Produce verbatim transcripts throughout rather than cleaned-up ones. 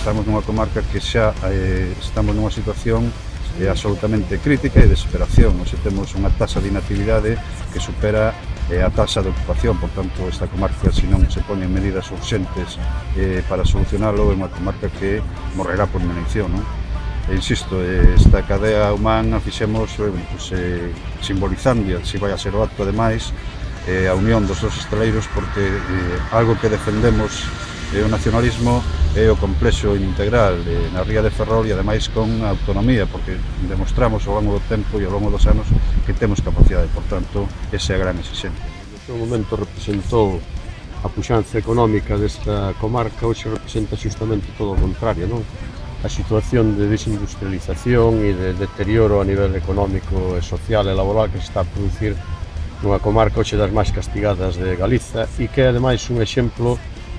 estamos nunha comarca que xa eh, estamos nunha situación eh, absolutamente crítica e de desesperación. Nos temos unha taxa de inactividade que supera eh, a taxa de ocupación, por tanto, esta comarca, se non se poñen medidas urgentes eh, para solucionalo, é unha comarca que morrerá por inanición, non? E insisto, eh, esta cadea humana fixemos eh, pues, eh, simbolizando, se vai a ser o acto ademais, eh, a unión dos dos estaleiros, porque eh, algo que defendemos é o nacionalismo é o complexo integral eh, na ría de Ferrol e ademais con autonomía, porque demostramos ao longo do tempo e ao longo dos anos que temos capacidade, por tanto, esa é a gran exigencia. No seu momento representou a puxanza económica desta comarca, hoxe representa justamente todo o contrario, non? A situación de desindustrialización e de deterioro a nivel económico e social e laboral que se está a producir nunha comarca hoxe das máis castigadas de Galiza e que é ademais un exemplo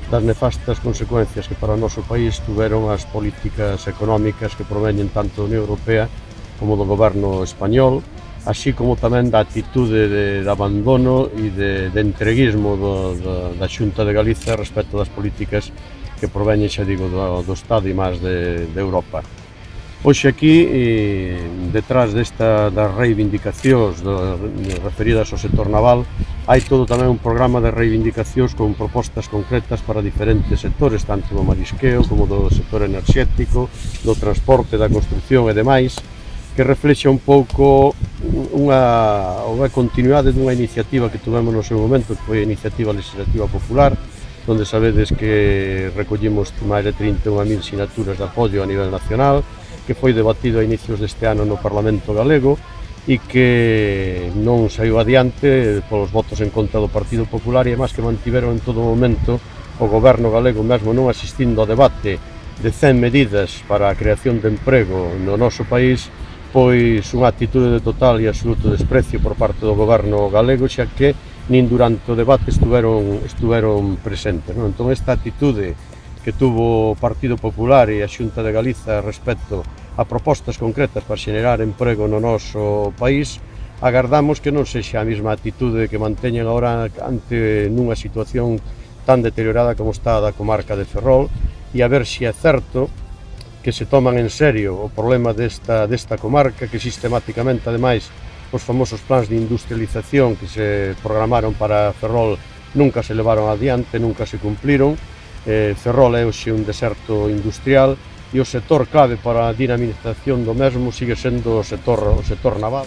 das nefastas consecuencias que para o noso país tuveron as políticas económicas que proveñen tanto da Unión Europea como do goberno español, así como tamén da atitude de, de abandono e de, de entreguismo do, do, da Xunta de Galiza respecto das políticas que proveñen, xa digo, do, do Estado e máis de, de Europa. Hoxe aquí, eh, detrás desta, das reivindicacións do, referidas ao sector naval, hai todo tamén un programa de reivindicacións con propostas concretas para diferentes sectores, tanto do marisqueo como do sector enerxético, do transporte, da construcción e demais, que reflexa un pouco unha, unha continuidade dunha iniciativa que tuvemos no seu momento, que foi a Iniciativa Legislativa Popular, onde sabedes que recollimos máis de trinta e unha mil sinaturas de apoio a nivel nacional, que foi debatido a inicios deste ano no Parlamento Galego e que non saiu adiante polos votos en contra do Partido Popular e máis que mantiveron en todo momento o goberno galego mesmo non asistindo ao debate de cen medidas para a creación de emprego no noso país, pois unha actitude de total e absoluto desprecio por parte do goberno galego, xa que nin durante o debate estuveron, estuveron presentes, non? Entón, esta actitude que tuvo o Partido Popular e a Xunta de Galiza respecto a propostas concretas para xenerar emprego no noso país, agardamos que non sexa a mesma actitude que manteñen agora ante nunha situación tan deteriorada como está a da comarca de Ferrol, e a ver se é certo que se toman en serio o problema desta, desta comarca, que sistemáticamente, ademais, os famosos plans de industrialización que se programaron para Ferrol nunca se levaron adiante, nunca se cumpliron. Eh, Ferrol é hoxe un deserto industrial e o sector clave para a dinamización do mesmo sigue sendo o sector, o sector naval.